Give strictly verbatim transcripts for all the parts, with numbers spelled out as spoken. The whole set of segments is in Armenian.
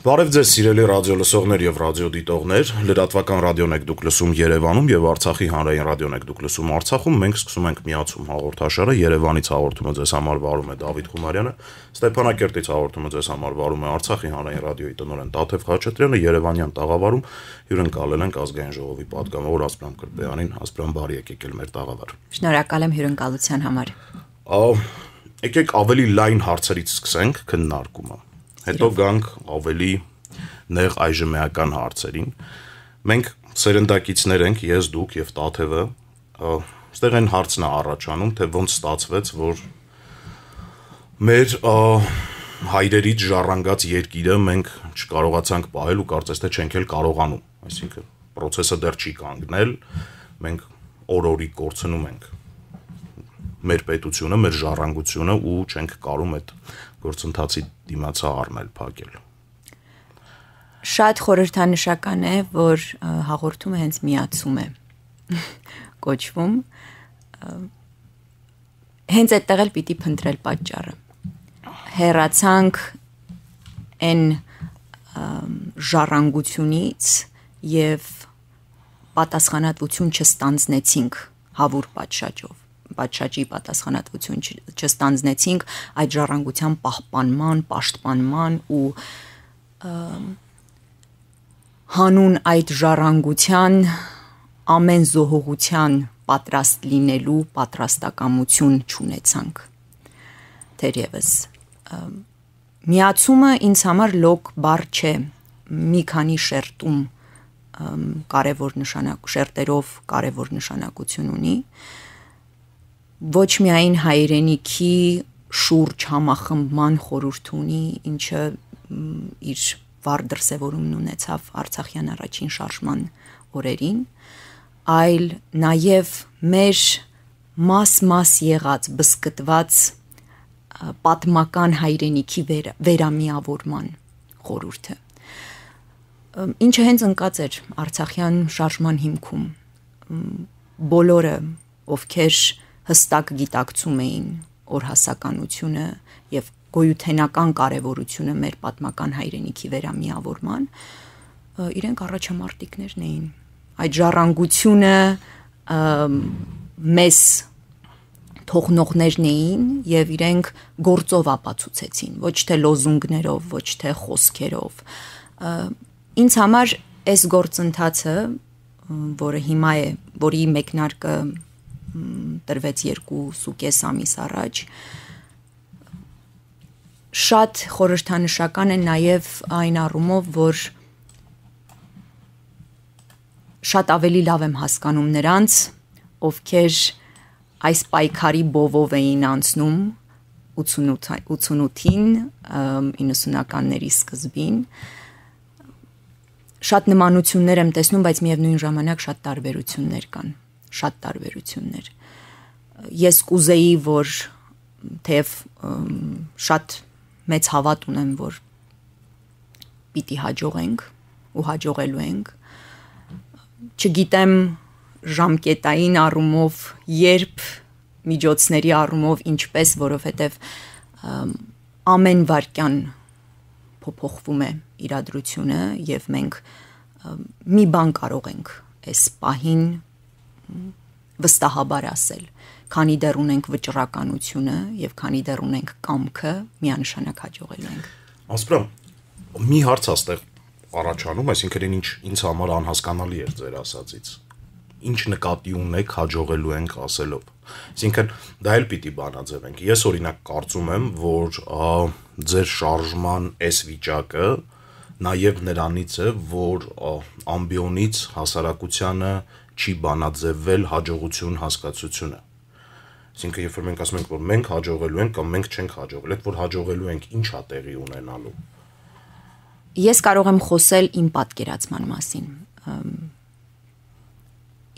Բարև ձեզ սիրելի ռադիո լսողներ եւ ռադիոդիտողներ, լրատվական ռադիոն եք դուք լսում Երևանում եւ Արցախի հանրային ռադիոն եք դուք լսում Արցախում, մենք սկսում ենք Միացում հաղորդաշարը, Երևանից հաղորդումը ձեզ համար վարում է Դավիթ Խումարյանը, Ստեփանակերտից հաղորդումը ձեզ համար վարում է Արցախի հանրային ռադիոյի տնօրեն Տաթև Խաչատրյանը, Երևանյան տաղավարում հյուրընկալել ենք ազգային ժողովի պատգամավոր Ասպրամ Կրպեյանին, Ասպրամ բարի եկեք ել մեր տաղավար։ Շնորհակալ եմ հյուրընկալության համար։ Եկեք ավելի լայն հարցերից սկսենք քննարկումը։ Հետո գանք ավելի նեղ այժմեական հարցերին։ Մենք սերնդակիցներ ենք, ես, դուք եւ Տաթևը, այստեղ այն հարցն է առաջանում, թե ոնց ստացվեց, որ մեր հայրերից ժառանգած երկիրը մենք չկարողացանք պահել ու կարծես թե չենք էլ կարողանում, այսինքն process-ը դեռ չի կանգնել, մենք օր-օրի կորցնում ենք մեր պետությունը, մեր ժառանգությունը ու չենք կարում այդ գործընթացի դիմացը առնել, փակել։ Շատ խորհրդանշական է, որ հաղորդումը հենց միացում է կոչվում։ Հենց այդտեղ էլ պիտի փնտրել պատճառը։ Հեռացանք այն ժառանգությունից եւ պատասխանատվություն չստանձնեցինք հավուր պատշաճով։ Պատշաճի պատասխանատվություն չստանձնեցինք այդ ժառանգության պահպանման, պաշտպանման ու հանուն այդ ժառանգության ամեն զոհողության պատրաստ լինելու պատրաստակամություն չունեցանք։ Թերևս միացումը ինձ համար լոկ բառ չէ, մի քանի շերտում կարևոր նշանակ շերտերով կարևոր նշանակություն ունի։ Ոչ միայն հայրենիքի շուրջ համախմբման խորհուրդ ունի, ինչը իր վառ դրսևորումն ունեցավ Արցախյան առաջին շարժման օրերին, այլ նաև մեր մաս-մաս եղած բզկտված պատմական հայրենիքի վեր, վերամիավորման խորհուրդը, ինչը հենց ընկած էր Արցախյան շարժման հիմքում։ Բոլորը, ովքեր հստակ գիտակցում էին օրհասականությունը եւ գոյութենական կարեւորությունը մեր պատմական հայրենիքի վերամիավորման, իրենք առաջամարտիկներն էին։ Այդ ժառանգությունը մեզ թողնողներն էին եւ իրենք գործով ապացուցեցին, ոչ թե լոզունգներով, ոչ թե խոսքերով։ Ինձ համար այս գործընթացը, որը հիմա է, որի մեկնարկը տրվեց երկուսուկես ամիս առաջ, շատ խորհրդանշական է նաև այն առումով, որ շատ ավելի լավ եմ հասկանում նրանց, ովքեր այս պայքարի բովով էին անցնում ութսունութին, իննսունականների սկզբին, շատ նմանություններ եմ տեսնում, բայց միևնույն ժամանակ շատ տարբերություններ կան, շատ տարբերություններ։ Ես կուզեի, որ թեև շատ մեծ հավատ ունեմ, որ պիտի հաջողենք ու հաջողելու ենք, չգիտեմ ժամկետային առումով, երբ միջոցների առումով ինչպես, որովհետև ամեն վայրկյան փոփոխվում է իրադրությունը եւ մենք մի բան կարող ենք այս պահին վստահաբար ասել, քանի դեռ ունենք վճռականությունը եւ քանի դեռ ունենք կամքը, միանշանակ հաջողելու ենք։ Ասպրամ, մի հարց աստեղ առաջանում, այսինքն ինչ ինձ համար անհասկանալի էր ձեր ասածից։ Ինչ նկատի ունեք հաջողելու ենք ասելով։ Այսինքն դա էլ պիտի բանաձևենք։ Ես օրինակ կարծում եմ, որ ձեր շարժման այս վիճակը նաև նրանից է, որ ամբիոնից հասարակությանը չի բանաձևվել հաջողություն հասկացությունը։ Այսինքն երբ որ մենք ասում ենք, որ մենք հաջողելու ենք կամ մենք չենք հաջողել, այդ որ հաջողելու ենք, ինչ է տեղի ունենալու։ Ես կարող եմ խոսել իմ պատկերացման մասին։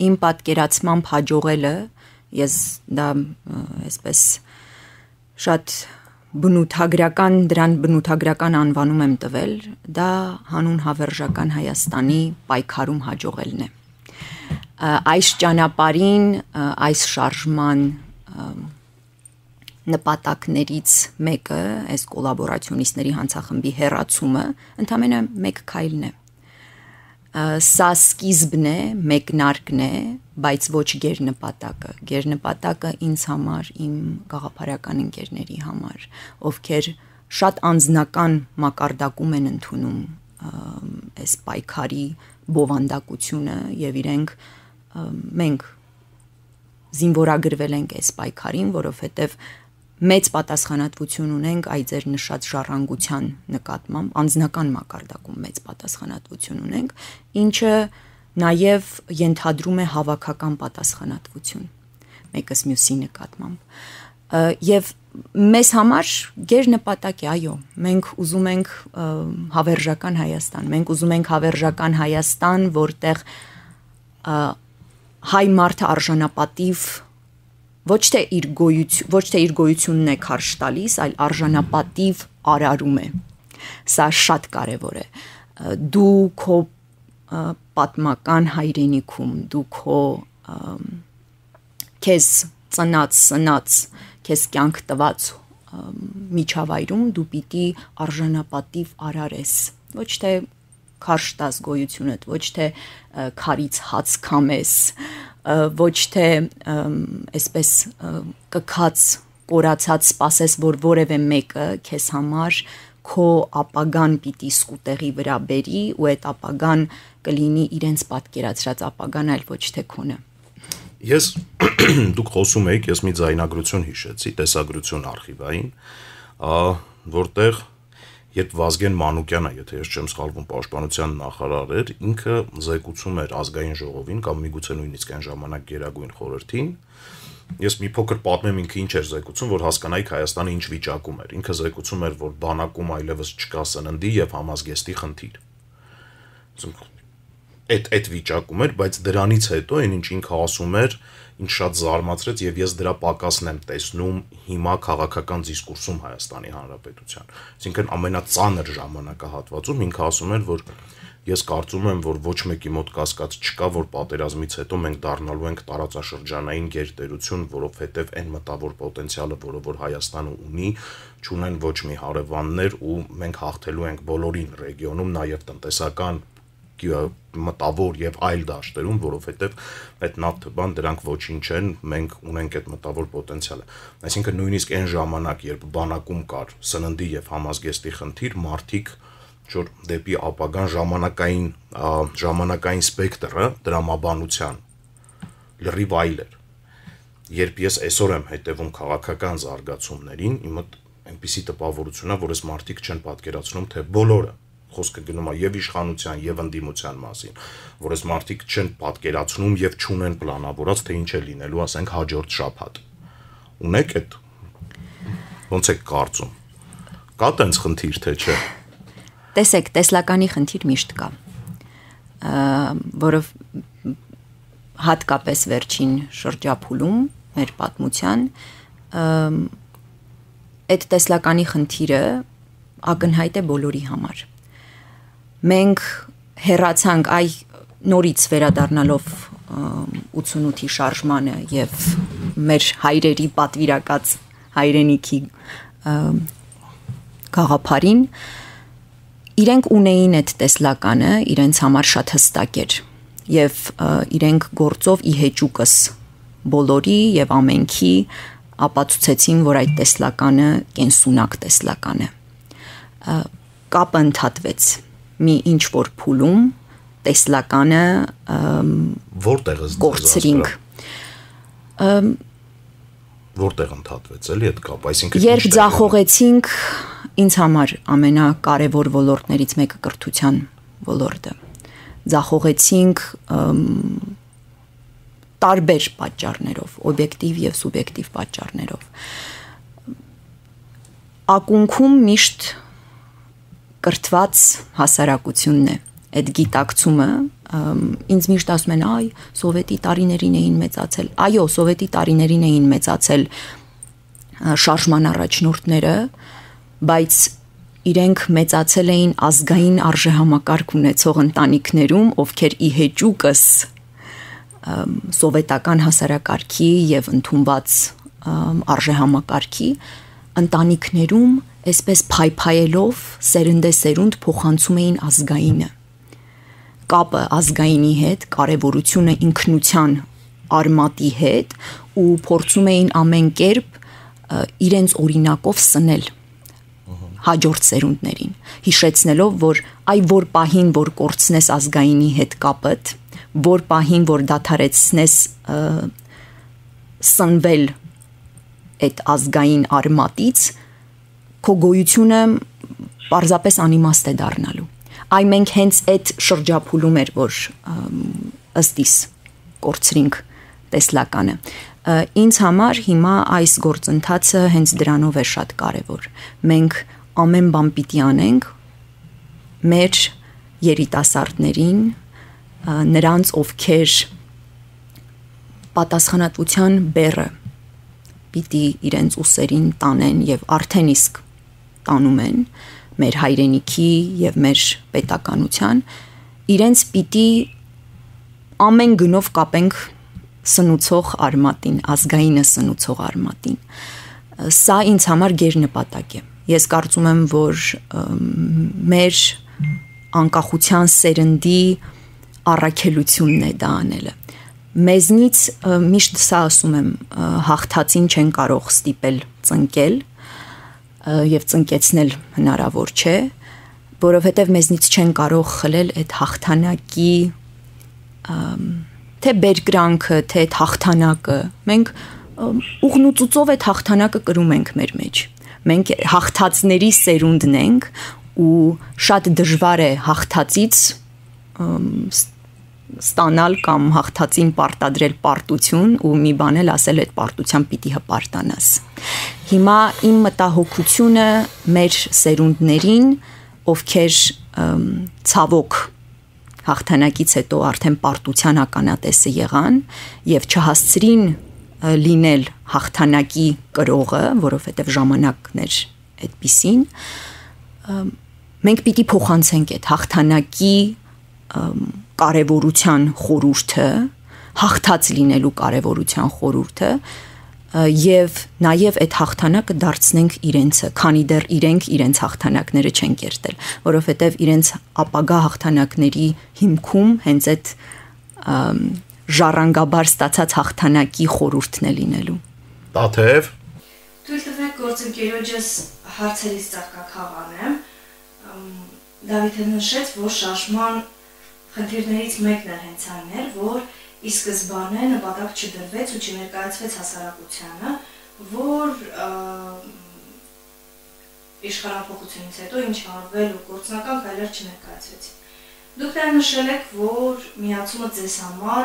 Իմ պատկերացմամբ հաջողելը, ես դա այսպես շատ բնութագրական, դրան բնութագրական անվանում եմ տվել, դա հանուն հավերժական Հայաստանի պայքարում հաջողելն է։ Այս ճանապարհին, այս շարժման նպատակներից մեկը, այս կոլաբորացիոնիստների հանցախմբի հեռացումը, ընդամենը մեկ քայլն է։ Սա սկիզբն է, մեկնարկն է, բայց ոչ գերնպատակը։ Գերնպատակը ինձ համար, իմ գաղափարական ընկերների համար, ովքեր շատ անձնական մակարդակում են ընդունում այս պայքարի բովանդակությունը եւ իրենք մենք զինվորագրվել ենք այս պայքարին, որովհետեւ մեծ պատասխանատվություն ունենք այ ձեր նշած ժառանգության նկատմամբ, անձնական մակարդակում մեծ պատասխանատվություն ունենք, ինչը նաև ենթադրում է հավաքական պատասխանատվություն մեկս մյուսի նկատմամբ։ Եվ մեզ համար գերնպատակ է, այո, մենք ուզում ենք հավերժական Հայաստան, մենք ուզում ենք հավերժական Հայաստան, որտեղ հայ մարդը արժանապատիվ ոչ թե իր գոյություն, ոչ թե իր գոյությունն է քարշ տալիս, այլ արժանապատիվ արարում է։ Սա շատ կարևոր է։ Դու քո պատմական հայրենիքում, դու քո քեզ ծնած, սնած, քեզ կյանք տված միջավայրում դու պիտի արժանապատիվ արարես, ոչ թե քարշ տաս գոյությունդ, ոչ թե քարից հաց քամես, ոչ թե այսպես կքած, կորացած սպասես, որ որևէ մեկը քեզ համար քո ապագան պիտի սկուտեղի վրա բերի ու այդ ապագան կլինի իրենց պատկերացրած ապագան, այլ ոչ թե քոնը։ Ես դուք խոսում եք, ես մի ձայնագրություն հիշեցի, տեսագրություն արխիվային, որտեղ երբ Վազգեն Մանուկյանը, եթե ես չեմ սխալվում, պաշտպանության նախարար էր, ինքը զեկուցում էր ազգային ժողովին կամ միգուցե նույնիսկ այն ժամանակ Գերագույն խորհրդին, ես մի փոքր պատմեմ ինքը ինչ էր զեկուցում, որ հասկանայիք Հայաստանը ինչ վիճակում էր։ Ինքը զեկուցում էր, որ բանակում այլևս չկա սննդի եւ համազգեստի խնդիր։ Այդ այդ վիճակում էր, բայց դրանից հետո այն ինչ ինքը ասում էր, ինչ շատ զարմացրեց եւ ես դրա պակասն եմ տեսնում հիմա քաղաքական դիսկուրսում Հայաստանի Հանրապետության։ Այսինքն ամենածանր ժամանակահատվածում ինքը ասում էր, որ ես կարծում եմ, որ ոչ մեկի մոտ կասկած չկա, որ պատերազմից հետո մենք դառնալու ենք տարածաշրջանային գերտերություն, որովհետեւ այն մտավոր պոտենցիալը, որը որ Հայաստանը ունի, չունեն ոչ մի հարևաններ ու մենք հաղթելու ենք բոլորին ռեգիոնում, նաեւ տնտեսական մտավոր եւ այլ դաշտերում, որովհետեւ այդ նավթ բան դրանք ոչինչ են, մենք ունենք այդ մտավոր պոտենցիալը։ Այսինքն նույնիսկ այն ժամանակ, երբ բանակում կար սննդի եւ համազգեստի խնդիր, մարդիկ որ դեպի ապագան ժամանակային ժամանակային սպեկտրը դրամաբանության լրիվ այլ էր։ Երբ ես այսօր եմ հետևում քաղաքական զարգացումներին, իմ մոտ այնպիսի տպավորություն է, որ այս մարդիկ չեն պատկերացնում, թե բոլորը խոսքը գնում է եւ իշխանության եւ ընդդիմության մասին, որ այս մարդիկ չեն պատկերացնում եւ չունեն պլանավորած, թե ինչ է լինելու, ասենք հաջորդ շաբաթ։ Ունեք այդ ոնց է կարծում։ Կա տենց խնդիր թե չէ։ Տեսեք, տեսլականի խնդիր միշտ կա, որով հատկապես վերջին շրջափուլում մեր պատմության այդ տեսլականի խնդիրը ակնհայտ է բոլորի համար։ Մենք հեռացանք այ նորից վերադառնալով ութսունութի շարժմանը եւ մեր հայրերի պատվիրակած հայրենիքի գաղափարին, իրենք ունեին այդ տեսլականը, իրենց համար շատ հստակ էր եւ իրենք գործով ի հեճուկս բոլորի եւ ամենքի ապացուցեցին, որ այդ տեսլականը կենսունակ տեսլական է։ Կապը ընդհատվեց մի ինչ որ փուլում տեսլականը որտեղ է կորցրինք որտեղ ընդհատվեց էլի այդ կապ, այսինքն երբ ձախողեցինք ինձ համար ամենակարևոր ոլորտներից մեկը կրթության ոլորտը, ձախողեցինք տարբեր պատճառներով, օբյեկտիվ եւ սուբյեկտիվ պատճառներով, ակունքում միշտ կրթված հասարակությունն է, այդ գիտակցումը ինձ միշտ ասում են, այ սովետի տարիներին էին մեծացել, այո, սովետի տարիներին էին մեծացել շարժման առաջնորդները, բայց իրենք մեծացել էին ազգային արժեհամակարգ ունեցող ընտանիքներում, ովքեր ի հեճուկս սովետական հասարակարգի եւ ընդունված արժեհամակարգի, ընտանիքներում այսպես փայփայելով սերնդեսերունդ փոխանցում էին ազգայինը, կապը ազգայինի հետ, կարևորությունը ինքնության արմատի հետ ու փորձում էին ամեն կերպ իրենց օրինակով սնել հաջորդ սերունդներին, հիշեցնելով, որ այ որ պահին, որ կորցնես ազգայինի հետ կապդ, որ պահին, որ դադարեցնես սնվել այդ ազգային արմատից, քո գոյությունը պարզապես անիմաստ է դառնալու։ Այ մենք հենց այդ շրջափուլում էր, որ ըստիս կորցրինք տեսլականը։ Ինձ համար հիմա այս գործընթացը հենց դրանով է շատ կարևոր։ Մենք ամեն բան պիտի անենք մեր երիտասարդներին, նրանց, ովքեր պատասխանատվության բեռը պիտի իրենց ուսերին տանեն եւ արդեն իսկ տանում են մեր հայրենիքի եւ մեր պետականության, իրենց պիտի ամեն գնով կապենք սնուցող արմատին, ազգայինը սնուցող արմատին։ Սա ինձ համար գերնպատակ է։ Ես կարծում եմ, որ մեր անկախության սերնդի առաքելությունն է դա անելը։ Մեզնից միշտ սա ասում եմ, հաղթածին չեն կարող ստիպել ծնկել եւ ծնկեցնել հնարավոր չէ, որովհետեւ մեզնից չեն կարող խլել այդ հաղթանակի թե բերկրանքը, թե այդ հաղթանակը։ Մենք ուղնուծուծով այդ հաղթանակը կրում ենք մեր մեջ։ Մենք հաղթածների սերունդն ենք ու շատ դժվար է հաղթածից ստանալ կամ հաղթածին պարտադրել պարտություն ու մի բան էլ ասել այդ պարտության պիտի հպարտանաս։ Հիմա իմ մտահոգությունը մեր սերունդներին, ովքեր ցավոք հաղթանակից հետո արդեն պարտության ականատեսը եղան եւ չհասցրին լինել հաղթանակի կրողը, որովհետեւ ժամանակն էր այդպիսին, մենք պիտի փոխանցենք այդ հաղթանակի կարևորության խորհուրդը, հաղթած լինելու կարևորության խորհուրդը եւ նաեւ այդ հաղթանակը դարձնենք իրենցը, քանի դեռ իրենք իրենց հաղթանակները չեն կերտել, որովհետեւ իրենց ապագա հաղթանակների հիմքում հենց այդ ժառանգաբար ստացած հաղթանակի խորհուրդն է լինելու։ Տաթև Թույլ տվեք գործընկերոջս հարցերից ծաղկաքաղանեմ։ Դավիթը նշեց, որ շարժման խնդիրներից մեկն է հենց այն էր, որ ի սկզբանե նպատակ չդրվեց ու չներկայացվեց հասարակությանը, որ իշխանափոխությունից հետո ինչ արվել ու գործնական քայլեր չներկայացվեցին։ Դուք դեռ նշել եք, որ միացումը ձեզ համար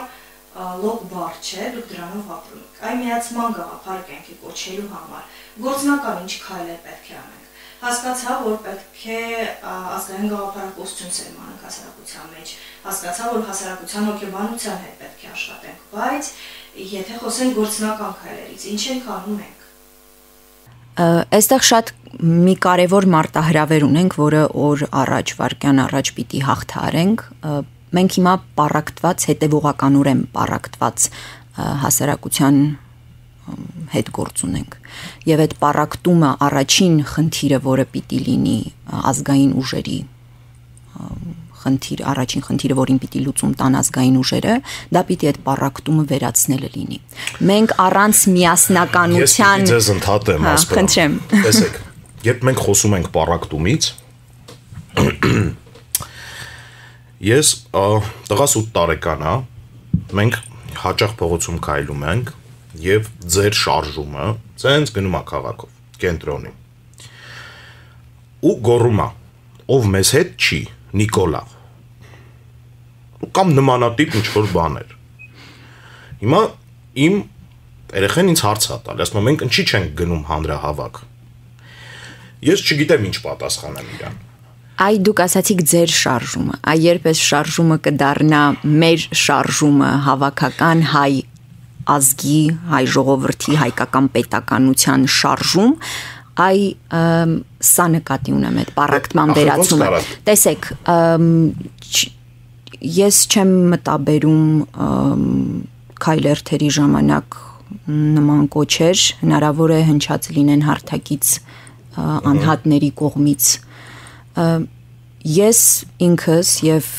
լոկ բառ չէ, դուք դրանով ապրում եք։ Այն միացման գաղափար կյանքի կոչելու համար գործնական ինչ քայլեր պետք է անենք։ Հասկացա, որ պետք է ազգային գաղափարակոծություն սերմանենք հասարակության մեջ, հասկացա, որ հասարակության հոգեբանության հետ պետք է աշխատենք, բայց եթե խոսենք գործնական քայլերից, ինչ ենք անում ենք։ Այստեղ շատ մի կարևոր մարտահրավեր ունենք, որը օր առաջ, վայրկյան առաջ պիտի հաղթահարենք։ Մենք հիմա պառակտված, հետևողականորեն պառակտված հասարակության հետ գործ ունենք։ Եվ այդ պառակտումը առաջին խնդիրը, որը պիտի լինի ազգային ուժերի խնդիր, առաջին խնդիրը, որին պիտի լուծում տան ազգային ուժերը, դա պիտի այդ պառակտումը վերացնելը լինի։ Մենք առանց միասնականության Ես ձեզ ընդհատեմ, ասպրամ։ Խնդրեմ։ Տեսեք, երբ մենք խոսում ենք պառակտումից, ես տղաս ութ տարեկան է, մենք հաճախ փողոցում քայլում ենք եւ ձեր շարժումը ցենց գնում է քաղաքով, կենտրոնի։ Ու գոռում է, ով մեզ հետ չի, Նիկոլա։ Կամ նմանատիպ ինչ-որ բաներ։ Հիմա իմ երեխեն ինձ հարց է տալ, ասում եմ, մենք ինչի չենք գնում հանրահավաք։ Ես չգիտեմ ինչ պատասխանեմ իրան։ Այ դուք ասացիք ձեր շարժումը, այ երբ այս շարժումը կդառնա մեր շարժումը, հավաքական հայ ազգի, հայ ժողովրդի, հայկական պետականության շարժում, այ սա նկատի ունեմ այդ պառակտման վերացումը։ Տեսեք, ես չեմ մտաբերում քայլերթերի ժամանակ նման կոչեր հնարավոր է հնչած լինեն հարթակից անհատների կողմից։ Ես ինքս եւ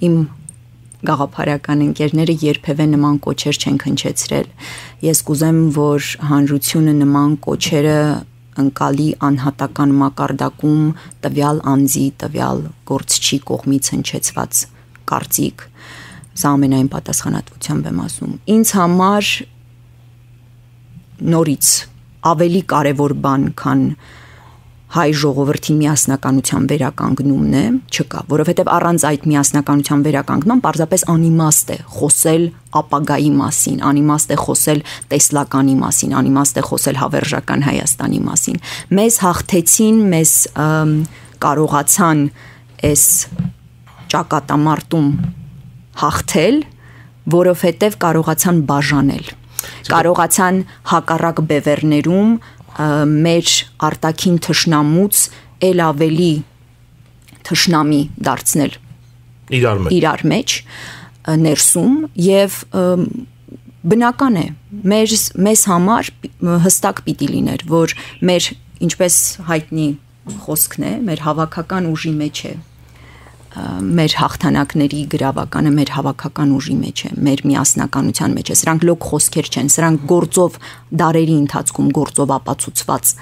իմ գաղափարական ընկերները երբևէ նման կոչեր չենք հնչեցրել։ Ես կուզեմ, որ հանրությունը նման կոչերը ընկալի անհատական մակարդակում տվյալ անձի, տվյալ գործչի կողմից հնչեցված կարծիք, սա ամենայն պատասխանատվությամբ եմ ասում։ Ինձ համար նորից ավելի կարևոր բան, քան հայ ժողովրդի միասնականության վերականգնումն է, չկա, որովհետև առանց այդ միասնականության վերականգնման պարզապես անիմաստ է խոսել ապագայի մասին, անիմաստ է խոսել տեսլականի մասին, անիմաստ է խոսել հավերժական Հայաստանի մասին։ Մեզ հաղթեցին, մեզ կարողացան այս ճակատամարտում հաղթել, որովհետև կարողացան բաժանել, կարողացան հակառակ բևեռներում մեր արտաքին թշնամուց էլ ավելի թշնամի դարձնել իրար մեջ, իրար մեջ ներսում եւ բնական է մեր մեզ համար հստակ պիտի լիներ, որ մեր ինչպես հայտնի խոսքն է, մեր հավաքական ուժի մեջ է մեր հաղթանակների գրավականը մեր հավաքական ուժի մեջ է, մեր միասնականության մեջ է։ Սրանք լոկ խոսքեր չեն, սրանք գործով դարերի ընթացքում գործով ապացուցված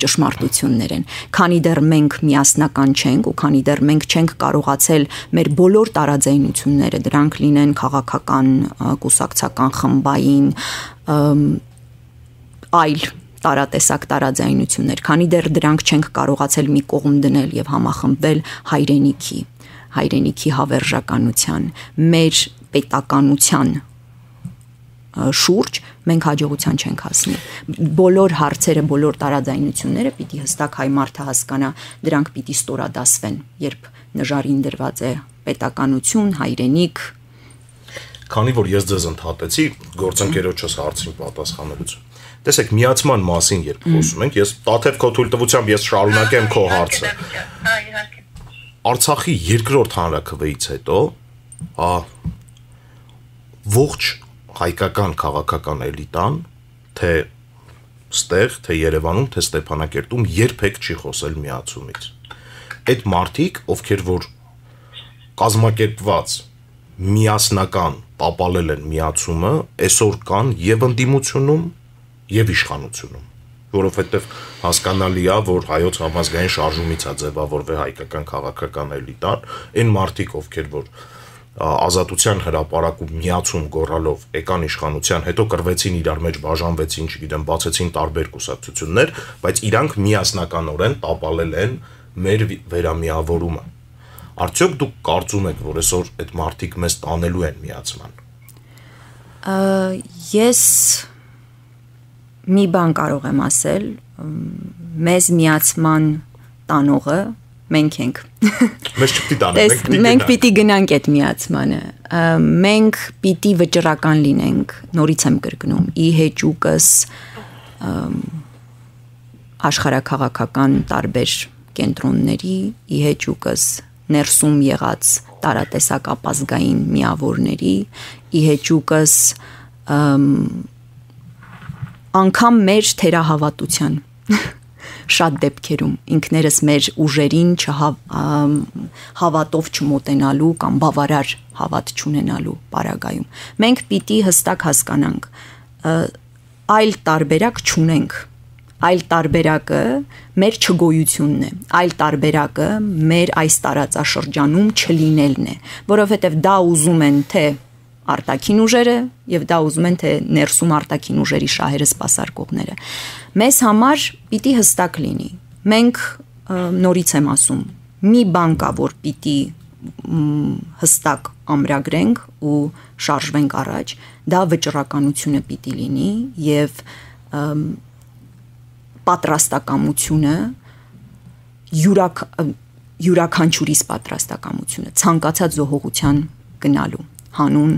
ճշմարտություններ են։ Քանի դեռ մենք միասնական չենք ու քանի դեռ մենք չենք կարողացել մեր բոլոր տարաձայնությունները, դրանք լինեն քաղաքական, կուսակցական, խմբային, այլ տարատեսակ տարաձայնություններ, քանի դեռ դրանք չենք կարողացել մի կողմ դնել եւ համախմբվել հայրենիքի, հայրենիքի հավերժականության, մեր պետականության շուրջ, մենք հաջողության չենք հասնի։ Բոլոր հարցերը, բոլոր տարաձայնությունները պիտի հստակ հայ մարդը հասկանա, դրանք պիտի ստորադասվեն, երբ նժարին դրված է պետականություն, հայրենիք։ Քանի որ ես ձեզ ընդհատեցի, գործընկերոջս հարցին պատասխանելուց։ Տեսեք, միացման մասին երբ խոսում ենք, ես Տաթև քո թույլտվությամբ ես շարունակեմ քո հարցը։ Արցախի երկրորդ հանրաքվեից հետո, հա, ողջ հայկական քաղաքական էլիտան, թե ստեղ, թե Երևանում, թե Ստեփանակերտում երբեք չի խոսել միացումից։ Այդ մարդիկ, ովքեր որ կազմակերպված միասնական տապալել են միացումը, այսօր կան եւ ընդդիմությունում եւ իշխանությունում, որովհետեւ հասկանալի է, որ հայոց համազգային շարժումից է ձևավորվել հայկական քաղաքական էլիտան, այն մարդիկ, ովքեր որ ազատության հրապարակում միացում գոռալով եկան իշխանության, հետո կրվեցին իրար մեջ, բաժանվեցին, չգիտեմ, բացեցին տարբեր կուսակցություններ, բայց իրանք միասնականորեն տապալել են մեր վերամիավորումը։ Արդյոք դուք կարծում եք, որ այսօր այդ մարդիկ մեզ տանելու են միացման։ Ես մի բան կարող եմ ասել, մեզ միացման տանողը մենք ենք։ Մեզ չպիտի տանենք, մենք պիտի գնանք այդ միացմանը։ Մենք պիտի վճռական լինենք, նորից եմ կրկնում, ի հեճուկս աշխարհաքաղաքական տարբեր կենտրոնների, ի հեճուկս ներսում եղած տարատեսակ ապազգային միավորների, ի հեճուկս անգամ մեր թերահավատության շատ դեպքերում ինքներս մեր ուժերին հավատով չմոտենալու կամ բավարար հավատ չունենալու պարագայում մենք պիտի հստակ հասկանանք այլ տարբերակ չունենք, այլ տարբերակը մեր չգոյությունն է, այլ տարբերակը մեր այս տարածաշրջանում չլինելն է, որովհետև դա ուզում են թե արտաքին ուժերը եւ դա ուզում են թե ներսում արտաքին ուժերի շահերը սպասարկողները։ Մեզ համար պիտի հստակ լինի։ Մենք նորից եմ ասում, մի բան կա, որ պիտի հստակ ամրագրենք ու շարժվենք առաջ, դա վճռականությունը պիտի լինի եւ պատրաստակամությունը յուրակ յուրաքանչյուրիս պատրաստակամությունը ցանկացած զոհողության գնալու հանուն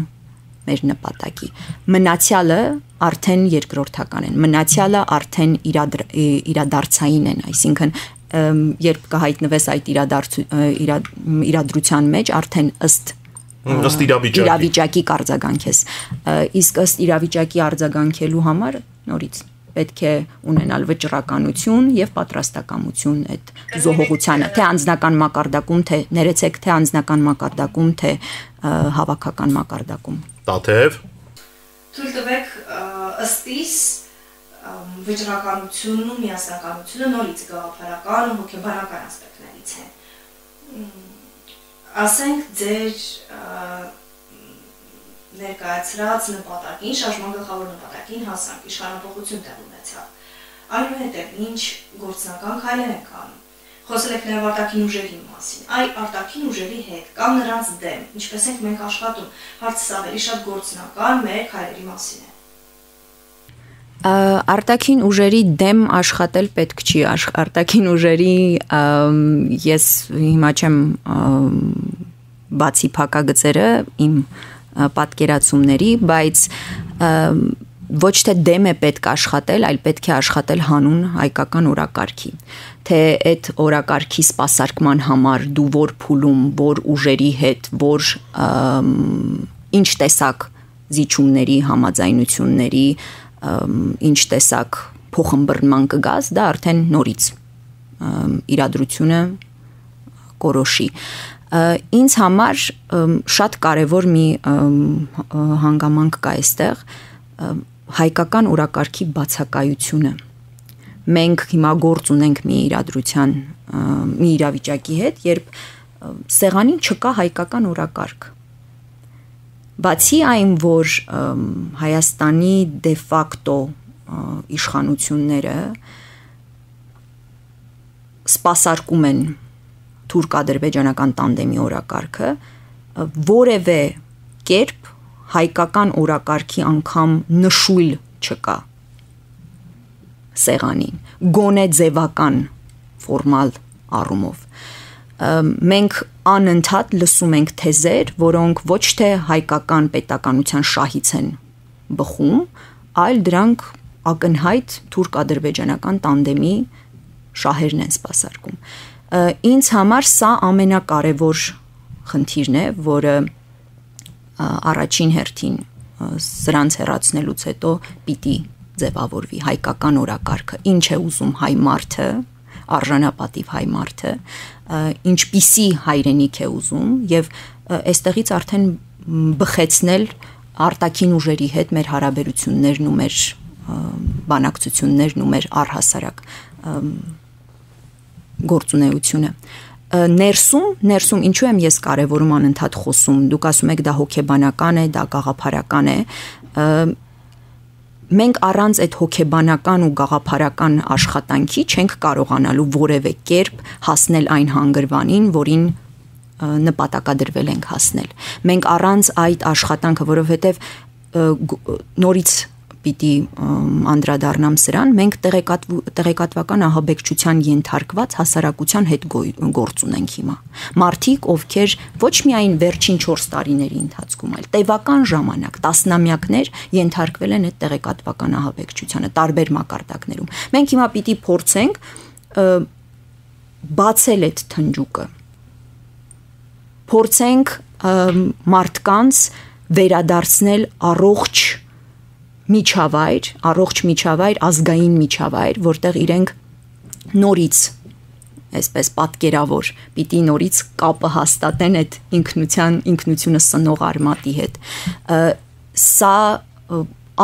մեր նպատակի։ Մնացյալը արդեն երկրորդական են, մնացյալը արդեն իրադր, իրադարձային են, այսինքն երբ կհայտնվես այդ իրադարձ, իրադրության մեջ, արդեն ըստ ըստ իրավիճակի իրավիճակի կարձագանքես։ Իսկ ըստ իրավիճակի արձագանքելու համար նորից պետք է ունենալ վճռականություն եւ պատրաստակամություն այդ զոհողությանը, թե անձնական մակարդակում, թե ներեցեք, թե անձնական մակարդակում, թե հավաքական մակարդակում։ Տաթև Թույլ տվեք ըստիս վճռականությունն ու միասնականությունը նորից գաղափարական ու հոգեբանական ասպեկտներից են։ Ասենք ձեր ներկայացրած նպատակին, շարժման գլխավոր նպատակին հասանք, իշխանապողություն տեղ ունեցավ։ Այնուհետև ինչ գործնական քայլեր ենք անում։ Խոսել եք նաև արտաքին ուժերի մասին։ Այ արտաքին ուժերի հետ կամ նրանց դեմ, ինչպես ենք մենք աշխատում, հարցը ավելի շատ գործնական մեր քայլերի մասին է։ Արտաքին ուժերի դեմ աշխատել պետք չի, արտաքին ուժերի ես հիմա չեմ բացի փակագծերը իմ պատկերացումների, բայց ոչ թե դեմ է պետք աշխատել, այլ պետք է աշխատել հանուն հայկական օրակարգի, թե այդ օրակարգի սպասարկման համար դու որ փուլում, որ ուժերի հետ, որ ինչ տեսակ զիջումների, համաձայնությունների, ինչ տեսակ փոխըմբռնման կգաս, դա արդեն նորից իրադրությունը կորոշի։ Ինձ համար շատ կարևոր մի հանգամանք կա այստեղ, հայկական օրակարգի բացակայությունը։ Մենք հիմա գործ ունենք մի իրադրության, մի իրավիճակի հետ, երբ սեղանին չկա հայկական օրակարգ։ Բացի այն, որ Հայաստանի դե ֆակտո իշխանությունները սպասարկում են թուրք-ադրբեջանական տանդեմի օրակարգը, որևէ կերպ հայկական օրակարգի անգամ նշույլ չկա սեղանին, գոնե ձևական ֆորմալ առումով։ Մենք անընդհատ լսում ենք թեզեր, որոնք ոչ թե հայկական պետականության շահից են բխում, այլ դրանք ակնհայտ թուրք-ադրբեջանական տանդեմի շահերն են սպասարկում։ Ինձ համար սա ամենակարևոր խնդիրն է, որը առաջին հերթին սրանց հեռացնելուց հետո պիտի ձևավորվի հայկական օրակարգը, ինչ է ուզում հայ մարդը, արժանապատիվ հայ մարդը, ինչպիսի հայրենիք է ուզում եւ այստեղից արդեն բխեցնել արտաքին ուժերի հետ մեր հարաբերություններն ու մեր բանակցություններն ու մեր առհասարակ գործունեությունը։ Ներսում, ներսում ինչու եմ ես կարևորում անընդհատ խոսում, դուք ասում եք դա հոգեբանական է, դա գաղափարական է, մենք առանց այդ հոգեբանական ու գաղափարական աշխատանքի չենք կարողանալու որևէ կերպ հասնել այն հանգրվանին, որին նպատակադրվել ենք հասնել։ Մենք առանց այդ աշխատանքը, որովհետև նորից պիտի անդրադառնամ սրան, մենք տեղեկատվական ահաբեկչության ենթարկված հասարակության հետ գործ ունենք հիմա։ Մարդիկ, ովքեր ոչ միայն վերջին չորս տարիների ընթացքում, այլ տևական ժամանակ, տասնամյակներ ենթարկվել են այդ տեղեկատվական ահաբեկչությանը տարբեր մակարդակներում։ Մենք հիմա պիտի փորձենք բացել այդ թնջուկը։ Փորձենք մարդկանց վերադարձնել առողջ միջավայր, առողջ միջավայր, ազգային միջավայր, որտեղ իրենք նորից, այսպես պատկերավոր, պիտի նորից կապը հաստատեն այդ ինքնության, ինքնությունը սնող արմատի հետ։ Սա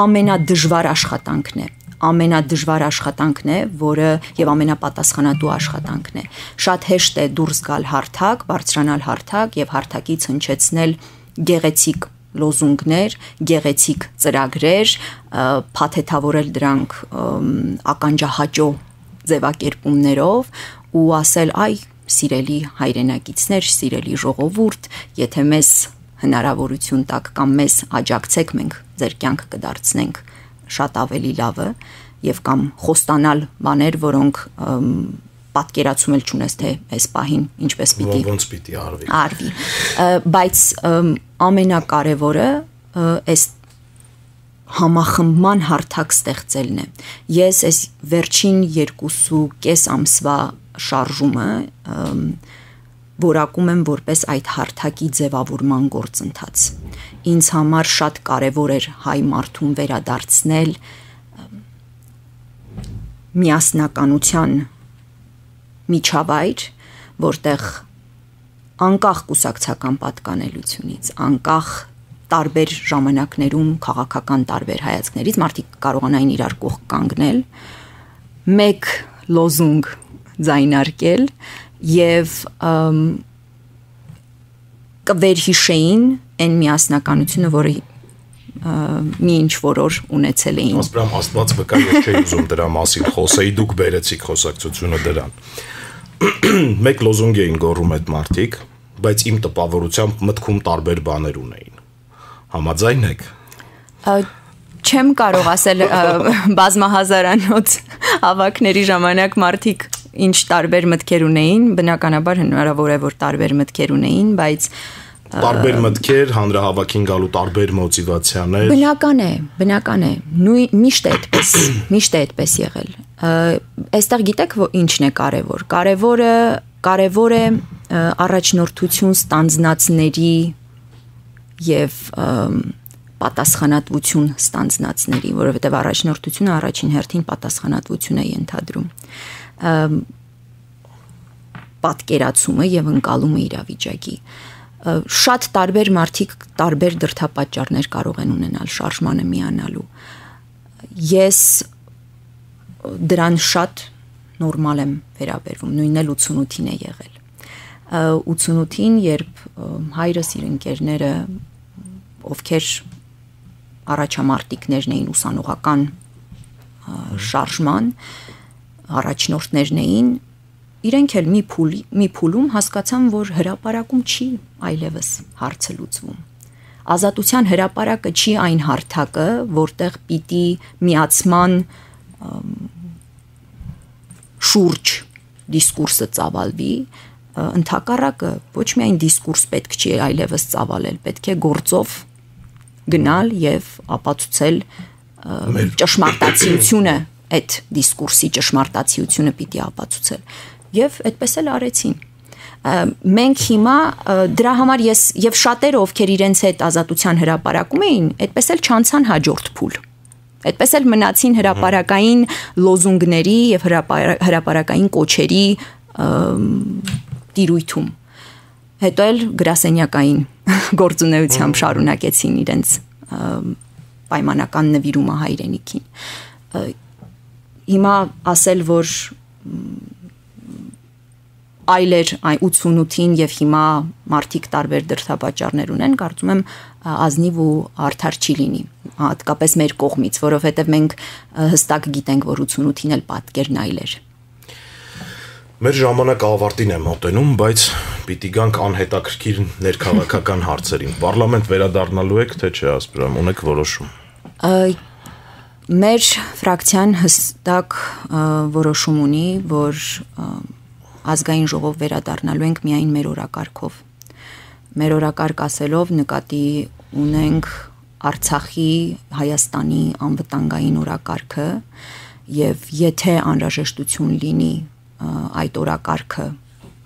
ամենադժվար աշխատանքն է, ամենադժվար աշխատանքն է, որը եւ ամենապատասխանատու աշխատանքն է։ Շատ հեշտ է դուրս գալ հարթակ, բարձրանալ հարթակ եւ հարթակից հնչեցնել գեղեցիկ լոզունգներ, գեղեցիկ ծրագրեր, փաթեթավորել դրանք ականջահաճո ձևակերպումներով ու ասել, այ սիրելի հայրենակիցներ, սիրելի ժողովուրդ, եթե մեզ հնարավորություն տաք կամ մեզ աջակցեք, մենք ձեր կյանքը կդարձնենք շատ ավելի լավը եւ կամ խոստանալ բաներ, որոնք պատկերացում էլ չունես, թե այս պահին ինչպես պիտի ոնց պիտի արվի։ Արվի, բայց ամենակարևորը այս համախմբման հարթակ ստեղծելն է։ Ես այս վերջին երկուսու կես ամսվա շարժումը որակում եմ որպես այդ հարթակի ձևավորման գործընթաց։ Ինձ համար շատ կարևոր էր հայ մարդուն վերադարձնել միասնականության միջավայր, որտեղ անկախ կուսակցական պատկանելությունից, անկախ տարբեր ժամանակներում քաղաքական տարբեր հայացքներից մարդիկ կարողանային իրար կողք կանգնել, մեկ լոզունգ ձայնարկել եւ կվերհիշեին այն միասնականությունը, որը մի ինչ որ օր ունեցել էին։ Ասպրամ Աստված վկա, ես չէի ուզում դրա մասին խոսեի, դուք բերեցիք խոսակցությունը դրան։ Մեկ լոզունգ էին գոռում այդ մարդիկ, բայց իմ տպավորությամբ մտքում տարբեր բաներ ունեին։ Համաձայն եք։ Չեմ կարող ասել բազմահազարանոց հավաքների ժամանակ մարդիկ ինչ տարբեր մտքեր ունեին, բնականաբար հնարավոր է որ տարբեր մտքեր ունեին, բայց տարբեր մտքեր, հանրահավաքին գալու տարբեր մոտիվացիաներ։ Բնական է, բնական է, նույն միշտ է այդպես, միշտ է այդպես եղել։ Այստեղ գիտեք ինչն է կարևոր։ Կարևորը կարևոր է առաջնորդություն ստանձնածների եւ պատասխանատվություն ստանձնածների, որովհետեւ առաջնորդությունը առաջին հերթին պատասխանատվություն է ենթադրում։ Պատկերացումը եւ ընկալումը իրավիճակի։ Շատ տարբեր մարդիկ տարբեր դրդապատճառներ կարող են ունենալ շարժմանը միանալու։ Ես դրան շատ նորմալ եմ վերաբերվում, նույնն էլ ութսունութին է եղել։ ութսունութին, երբ հայրս իր ընկերները, ովքեր առաջամարտիկներն էին ուսանողական շարժման, առաջնորդներն էին, իրենք էլ մի փուլի, մի փուլում հասկացան, որ հրապարակում չի այլևս հարցը լուծվում։ Ազատության հրապարակը չի այն հարթակը, որտեղ պիտի միացման շուրջ դիսկուրսը ծավալվի, ընդհակառակը ոչ միայն դիսկուրս պետք չի այլևս ծավալել, պետք է գործով գնալ եւ ապացուցել ճշմարտացիությունը, այդ դիսկուրսի ճշմարտացիությունը պիտի ապացուցել։ Եվ այդպես էլ արեցին։ Մենք հիմա դրա համար ես եւ շատերը, ովքեր իրենց հետ ազատության հրապարակում էին, այդպես էլ չանցան հաջորդ փուլ։ Այդպես էլ մնացին հրապարակային լոզունգների եւ հրապարակային կոչերի տիրույթում։ Հետո էլ գրասենյակային գործունեությամբ շարունակեցին իրենց պայմանական նվիրումը հայրենիքին։ Հիմա ասել, որ այլեր ութսունութին եւ հիմա մարդիկ տարբեր դրդապատճառներ ունեն, կարծում եմ ազնիվ ու արդար չի լինի, հատկապես մեր կողմից, որովհետեւ մենք հստակ գիտենք, որ ութսունութին էլ պատկերն այլ էր։ Մեր ժամանակը ավարտին է մոտենում, բայց պիտի գանք անհետաքրքիր ներքաղաքական հարցերին։ Պարլամենտ վերադառնալու եք, թե չէ, ասպրամ, ունեք որոշում։ Մեր ֆրակցիան հստակ որոշում ունի, որ ազգային ժողով վերադառնալու ենք միայն մեր օրակարգով։ Մեր օրակարգ ասելով նկատի ունենք Արցախի, Հայաստանի անվտանգային օրակարգը եւ եթե անհրաժեշտություն լինի այդ օրակարգը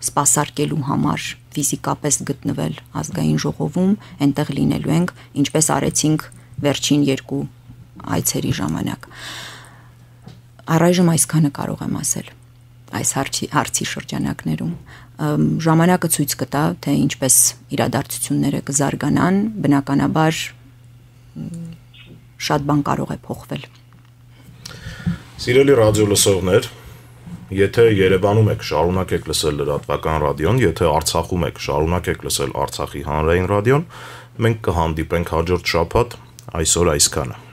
սպասարկելու համար ֆիզիկապես գտնվել ազգային ժողովում, այնտեղ լինելու ենք, ինչպես արեցինք վերջին երկու այցերի ժամանակ։ Առայժմ այսքանը կարող եմ ասել այս հարցի, հարցի շրջանակներում։ Ժամանակը ցույց կտա, թե ինչպես իրադարձությունները կզարգանան, բնականաբար շատ բան կարող է փոխվել։ Սիրելի ռադիո լսողներ, եթե Երևանում եք, շարունակեք լսել լրատվական ռադիոն, եթե Արցախում եք, շարունակեք լսել Արցախի հանրային ռադիոն, մենք կհանդիպենք հաջորդ շաբաթ, այսօր այսքանը։